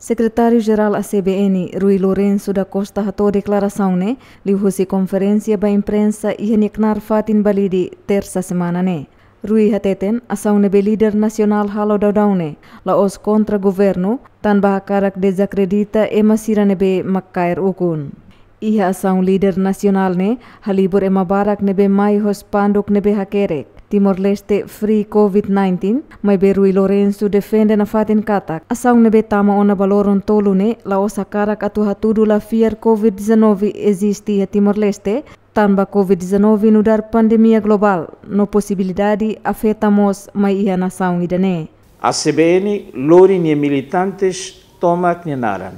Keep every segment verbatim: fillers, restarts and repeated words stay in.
Sekretáriu Jerál A C B N, Rui Lourenço da Costa, hato'o deklarasaun ne'e liuhusi konferénsia ba imprensa iha nia knaar fatin Balide, Tersa semana ne'e. Rui hateten, asaun ne'ebé líder nasionál halo daudaun ne'e la'ós kontra governu, tanba hakarak dezakredita ema sira ne'ebé mak kaer ukun. Iha asaun líder nasionál ne'e halibur ema barak ne'ebé mai ho spanduk ne'ebé hakerek Timor-Leste Free Covid nineteen, maibé Rui Lourenço defende nafatin katak asaun ne'ebé tama ona ba loron tolu ne'e la'ós hakarak atu hatudu la fiar Covid dezanove eziste iha Timor-Leste, tanba Covid dezanove nu'udar pandemia globál no posibilidade afeta mós mai iha nasaun ida-ne'e. A C B N lori nia militantes tomak nia naran,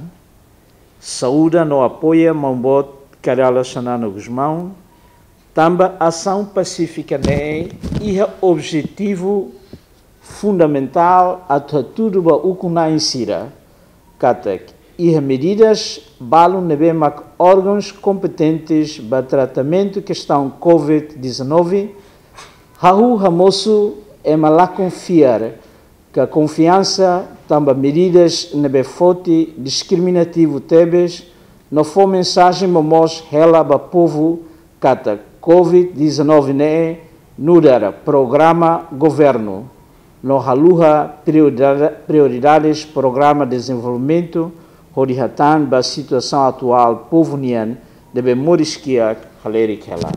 saúda no apoia Maun Boot Kay Rala Xanana Gusmão, tanba asaun pasífika ne'e iha objetivu fundamentál atu hatudu ba ukun-na'in sira katak iha medidas balun ne'ebé mak órgauns kompetentes ba tratamentu kestaun Covid dezanove hahú hamosu, ema la konfiar ka konfiansa, tanba medidas ne'ebé foti diskriminativu tebes no fó mensajen momoos hela ba povu katak Covid dezanove ne'e nu'udar programa governu no haluha prioridade, prioridades programa dezenvolvimentu, hodi hatán ba situasaun atuál povu nian ne'ebé moris kiak halerik hela.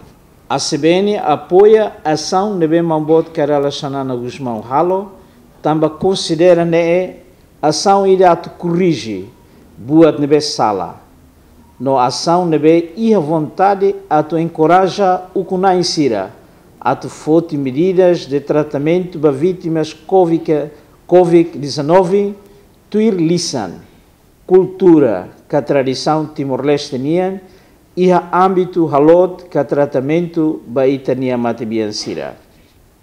A C B N apoia asaun ne'ebé Maun Boot Kay Rala Xanana Gusmão halo, tanba konsidera ne'e asaun ida atu korrije buat ne'ebé sala, no asaun ne'ebé iha vontade atu enkoraja ukun-na'in sira atu foti medidas de tratamentu ba vítimas Covid, Covid dezanove, tuir lisan, kultura ka tradisaun Timor-Leste nian, iha ámbitu halot ka tratamentu ba ita-nia matebian sira.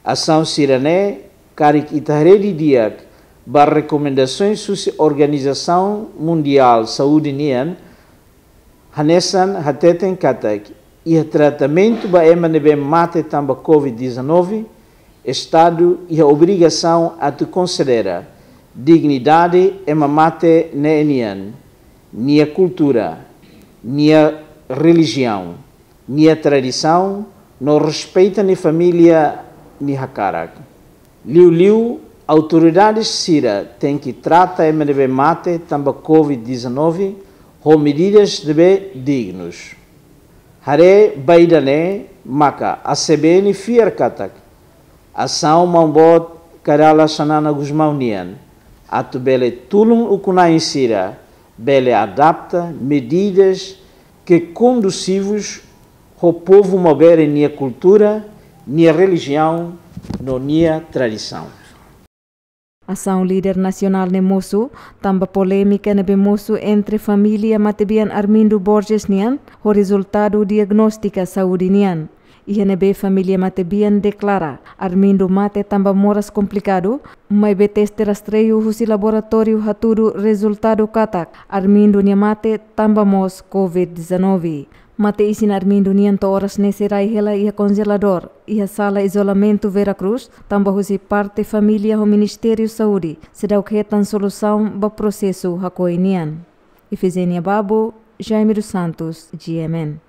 Asaun sira-ne'e karik ita haree didi'ak ba rekomendasoens husi Organizasaun Mundiál Saúde nian, hanesan hateten katak iha tratamentu ba ema ne'ebé mate tanba Covid dezanove, Estadu iha obrigasaun atu konsidera dignidade ema mate ne'e nian, nia kultura, nia relijiaun, nia tradisaun, no respeita nia família nia hakarak. Liuliu, autoridades sira tenke trata ema ne'ebé mate tanba Covid dezanove ho medidas ne'ebé dignus. Haree ba ida-ne'e maka A C B N fiar katak asaun Maun Boot Kay Rala Xanana Gusmão nian atu bele tulun ukun-na'in sira bele adapta medidas ke kondusivus ho povu maubere nia kultura, nia relijiaun no nia tradisaun. Asaun líder nasionál ne'e mosu tanba polémika ne'ebé mosu entre família matebian Armindo Borges nian ho rezultadu diagnóstika saúde nian. Iha ne'ebé família matebian deklara Armindo mate tanba moras komplikadu, maibé teste rastreiu husi laboratóriu hatudu rezultadu katak Armindo nia mate tanba mós Covid dezanove. Mate-isin Armindo nian to'o oras ne'e sei rai hela iha konjeladór iha sala izolamentu Vera Cruz, tanba husi parte família ho Ministériu Saúde seidauk hetan solusaun ba prosesu hakoi nian. Ifigénia Babo, Jaime dos Santos, G M N.